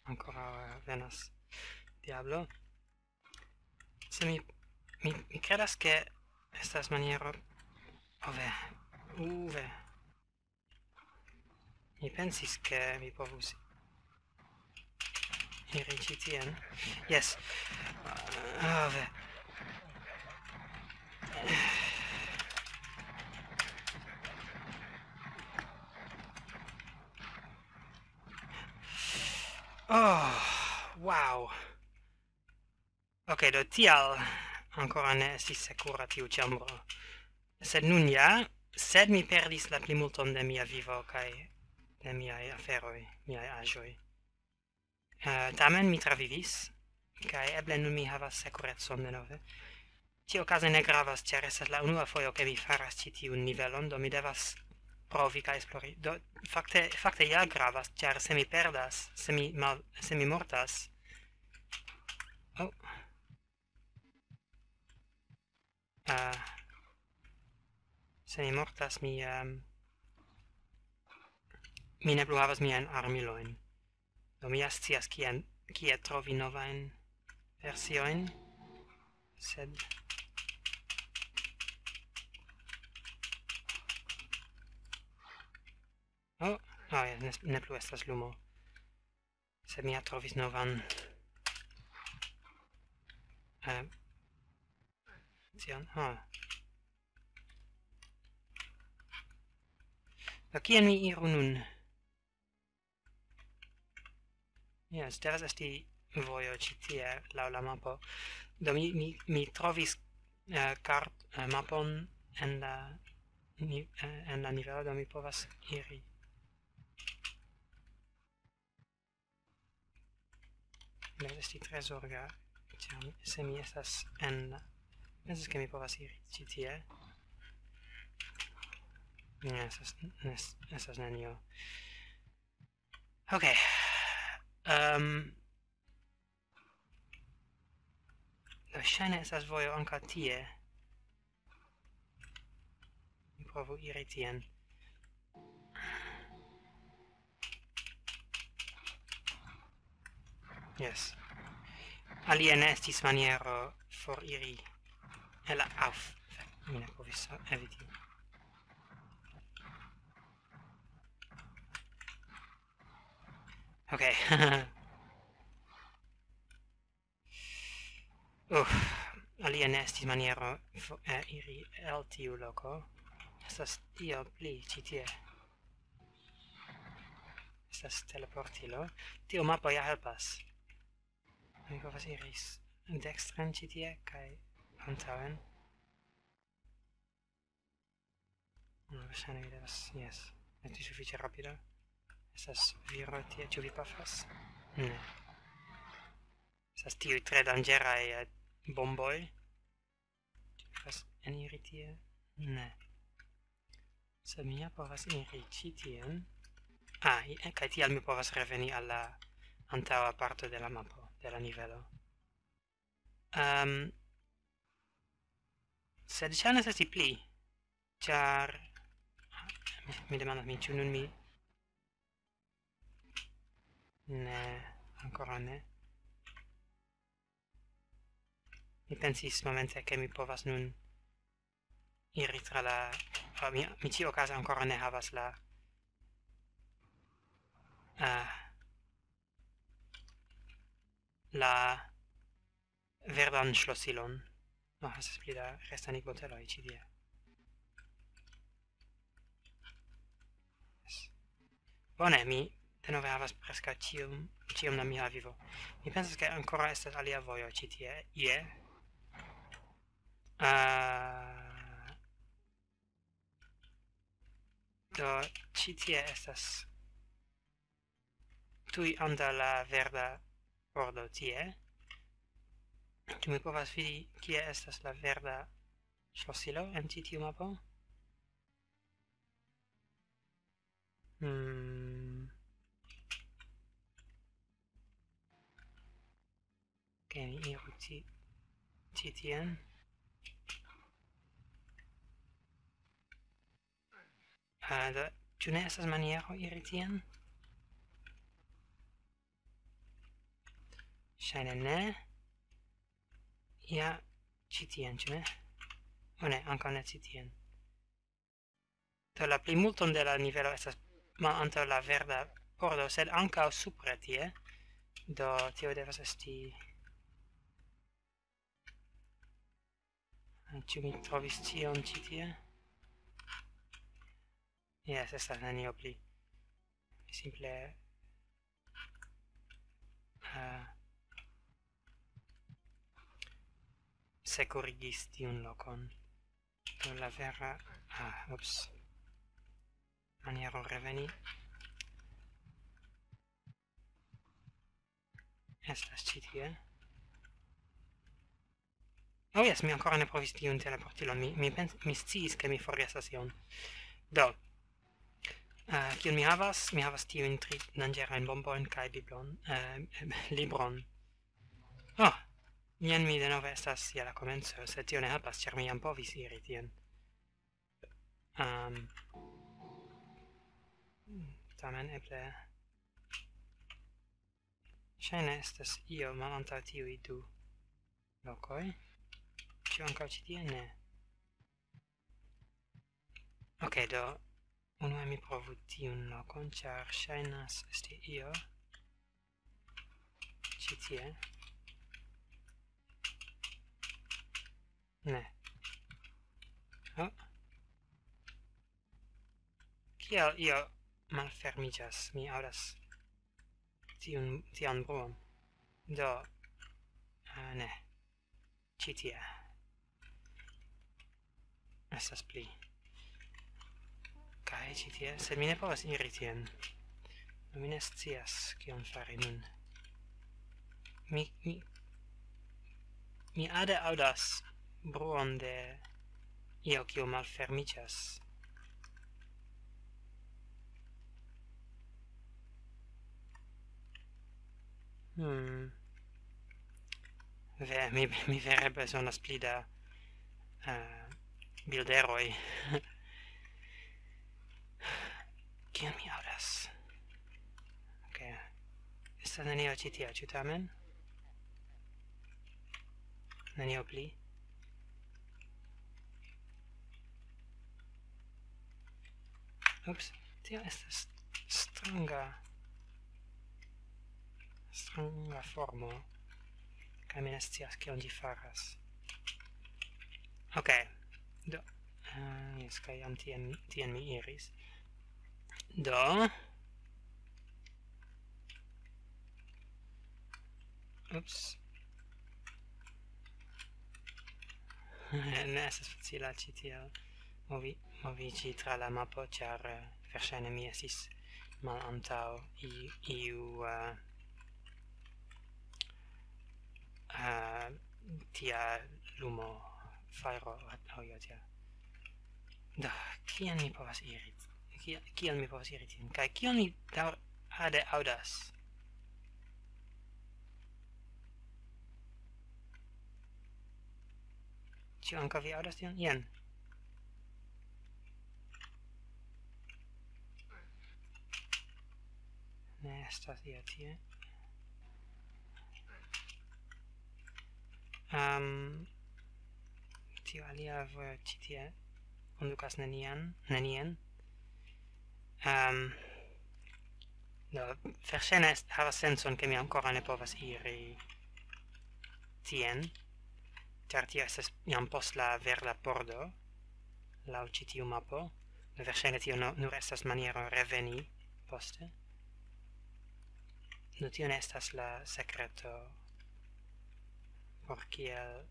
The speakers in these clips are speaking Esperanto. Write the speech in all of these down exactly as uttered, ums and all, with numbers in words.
Ankoraŭ, eh, venas diablo. Se mi, mi, mi kredas, ke estas maniero... Oh, ve. Uh, ve. Mi pensis, ke mi povus iri ĉi tien. Jes. Ah, ve. Oh, wow. Ok, do tial ankoraŭ ne estis sekura tiu ĉambro. Sed nun ja, sed mi perdis la plimulton de mia vivo kaj de miaj aferoj, miaj aĵoj. Eh, tamen mi travivis, kaj eble nun mi havas sekurecon denove. Ĉiuokaze ne gravas, ĉar estas la unua fojo, ke mi faras ĉi tiun nivelon, do mi devas provi kaj esplori. Do, fakte, fakte ja gravas, ĉar se mi perdas, se mi mal-, se mi mortas... Oh. Eh, se mi mortas, mi, ehm, mi ne plu havas miajn armilojn. Do mi ja scias kien, kie trovi novajn versiojn, sed... Oh, oh, ja, ne, ne plu estas lumo. Sed mi ja trovis novan, eh, tion, ha. Do kien mi iru nun? Jes, devas esti vojo ĉi tie laŭ la mapo. Do mi, mi, mi trovis, eh, kart-, eh, mapon en la ni-, eh, en la nivelo, do mi povas iri. Devas esti tre zorga, ĉar mi, se mi estas en... Pensas, ke mi povas iri ĉi tie. Ne, estas, ne, estas nenio. Ok. Ehm, do ŝajne estas vojo ankaŭ tie. Mi provu iri tien. Jes. Alie ne estis maniero foriri el la... Auf. Mi ne povis eviti. Ok. Uf, alie ne estis maniero fo-, eh, iri el tiu loko. Estas io pli ĉi tie. Estas teleportilo. Tiu mapo ja helpas. Mi povas iri s-, dekstren ĉi tie kaj antaŭen. No, verŝajne mi devas, jes. Esti sufiĉe rapida. Estas viro tie, ĉu vi pafas? Ne. Estas tiuj tre danĝeraj, eh, bomboj. Ĉu vi povas eniri tie? Ne. Sed mi ja povas iri ĉi tien. Ah, i-, eh, kaj tial mi povas reveni al la antaŭa parto de la mapo, de la nivelo. Ehm, sed ŝajnas esti pli, ĉar mi, mi demandas min, ĉu nun mi... Ne, ankoraŭ ne. Mi pensis momente, ke mi povas nun iri tra la... Ah, mi, mi ĉiuokaze ankoraŭ ne havas la, ah, la verdan ŝlosilon. No, estas pli da restanigboteloj ĉi tie. Yes. Bone, mi denove havas preskaŭ ĉiom, ĉiom da mia vivo. Mi pensas, ke ankoraŭ estas alia vojo ĉi tie. Ie. Ah, do, ĉi tie estas tuj antaŭ la verda pordo tie. Ĉu mi povas vidi, kie estas la verda ŝlosilo en ĉi tiu mapo? Hmm. Ke mi iru ĉi, ĉi tien. Ah, do, ĉu ne estas maniero iri tien? Ŝajne ne. Ja, ĉi tien, ĉu ne? O ne, ankaŭ ne ĉi tien. Do la plimulton de la nivelo estas malantaŭ la verda pordo, sed ankaŭ supre tie. Do tio devas esti... Ĉu mi trovis ĉion ĉi tie? Jes, estas nenio pli. Mi simple, eh, sekurigis tiun lokon. Do la vera... Ah, ups. Maniero reveni estas ĉi tie. Oh jes, mi ankoraŭ ne provis tiun teleportilon. Mi, mi, pens, mi sciis, ke mi forgesas ion. Do, eh, kion mi havas? Mi havas tiujn tri danĝerajn bombojn kaj biblon, eh, libron. Oh, jen mi denove estas je la komenco, sed tio ne helpas, ĉar mi jam povis iri tien. Ehm, tamen eble... Ŝajne estas io malantaŭ tiuj du lokoj. Ĉu ankaŭ ĉi tie? Ne. Ok, do unue mi provu tiun lokon, ĉar ŝajnas esti io ĉi tie. Ne. Oh. Kial io malfermiĝas? Mi aŭdas tiun, tian bruon. Do, eh, ne. Ĉi tie. Estas pli. Kaj ĉi tie, sed mi ne povas iri tien. Do mi ne scias, kion fari nun. Mi, mi, mi ade aŭdas bruon de io, kiu malfermiĝas. Hmm. Ve, mi, mi vere bezonas pli da, eh, bilderoj. Kion mi aŭdas? Ok. Estas nenio ĉi tie, ĉu tamen? Nenio pli. Ups, tio estas stranga, stranga formo, kaj mi ne scias, kion ĝi faras. Ok, do, eh, jes, kaj jam tien, tien mi iris. Do, ups. Ne estas facila ĉi tiel movi-, moviĝi tra la mapo, ĉar, eh, verŝajne mi estis malantaŭ i-, iu, eh, eh, tia lumo, fajro, aŭ io tia. Do, kien mi povas iri? Kie-, kiel mi povas iri tien? Kaj kion mi daŭr-, ade aŭdas? Ĉu ankaŭ vi aŭdas tion? Jen. Ne estas io tie. Ehm, tio alia vojo ĉi tie kondukas nenian, nenien. Ehm, do, verŝajne est-, havas sencon, ke mi ankoraŭ ne povas iri tien, ĉar tio estas jam post la verda pordo, laŭ ĉi tiu mapo. Do, verŝajne tio no-, nur estas maniero reveni poste. Do, tio ne estas la sekreto por kiel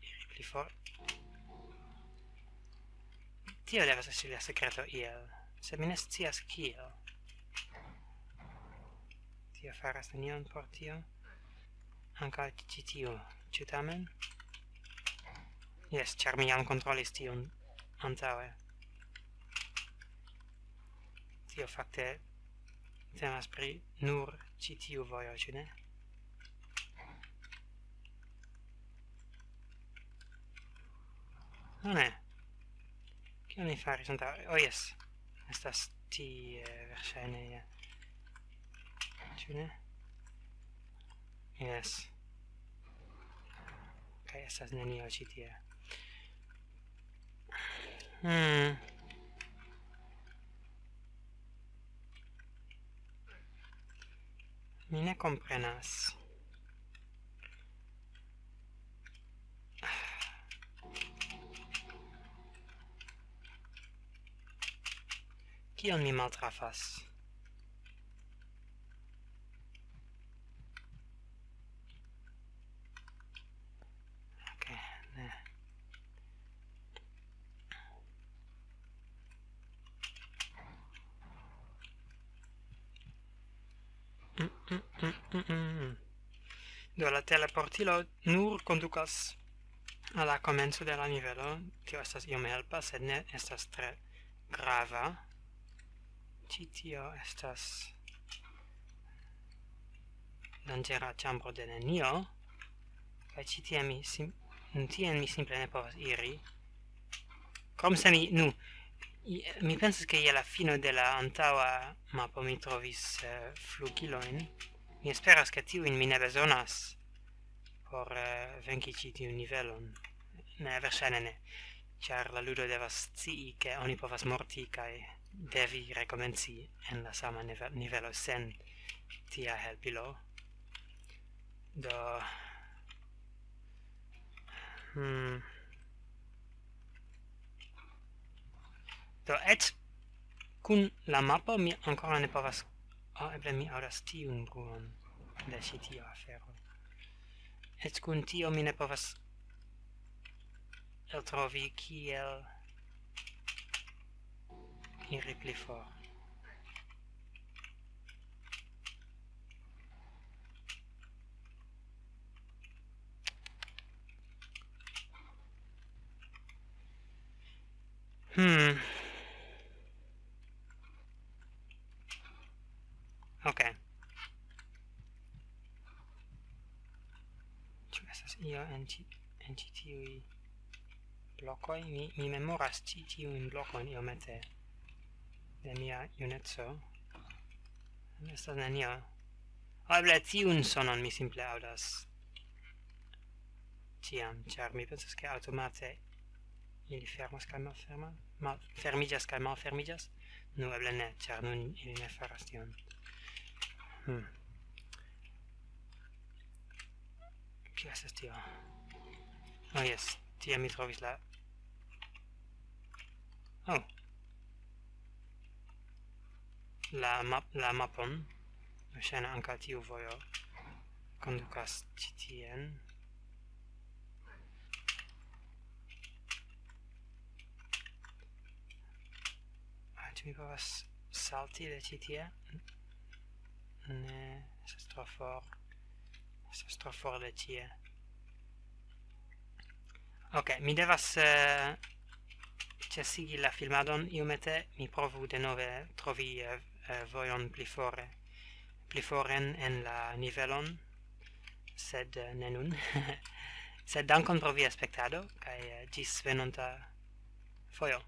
iri pli for. Tio devas esti la sekreto iel, sed mi ne scias kiel. Tio faras nenion por tio. Ankaŭ ĉi tiu, ĉu tamen? Jes, ĉar mi jam kontrolis tiun antaŭe. Tio fakte temas pri nur ĉi tiu vojo, ĉu ne? No, ne. Kion mi faris antaŭe? Oh, jes. Estas tie, verŝajne, ja. Ĉu ne? Yes. Kaj estas nenio ĉi tie. Hmm. Mi ne komprenas. Kion mi maltrafas? Ok, ne. Mm, mm, mm, mm, mm. Do, la teleportilo nur kondukas al la komenco de la nivelo. Tio estas iom helpa, sed ne estas tre grava. Ĉi tio estas danĝera ĉambro de nenio. Kaj ĉi tie mi sim-, tien mi simple ne povas iri. Krom se mi, nu, i-, mi pensas, ke je la fino de la antaŭa mapo mi trovis, eh, flugilojn. Mi esperas, ke tiujn mi ne bezonas por, eh, venki ĉi tiun nivelon. Ne, verŝajne ne, ĉar la ludo devas scii, ke oni povas morti kaj devi rekomenci en la sama nive-, nivelo sen tia helpilo. Do, hmm. Do, eĉ kun la mapo mi ankoraŭ ne povas... Oh, eble mi aŭdas tiun bruon de ĉi tiu afero. Eĉ kun tio mi ne povas eltrovi, kiel iri pli for. Hmm. Ok. Ĉu estas io en ĉi, en ĉi tiuj blokoj? Mi, mi memoras ĉi tiujn blokojn iomete de mia juneco. Estas nenio. Eble tiun sonon mi simple aŭdas ĉiam, ĉar mi pensas, ke aŭtomate ili fermas kaj malfermas, mal-, fermiĝas kaj malfermiĝas. Nu, eble ne, ĉar nun ili ne faras tion. Hmm. Kio estas tio? Oh, jes, tie mi trovis la... Oh. La map-, la mapon. Ŝajne ankaŭ tiu vojo kondukas ĉi tien. Ah, ĉu mi povas salti de ĉi tie? Ne, estas tro for. Estas tro for de tie. Ok, mi devas, eh, ĉesigi la filmadon iomete. Mi provu denove trovi, eh, eh, vojon pli fore, pli foren en la nivelon, sed, eh, ne nun. Sed dankon pro via spektado, kaj, eh, ĝis venonta fojo.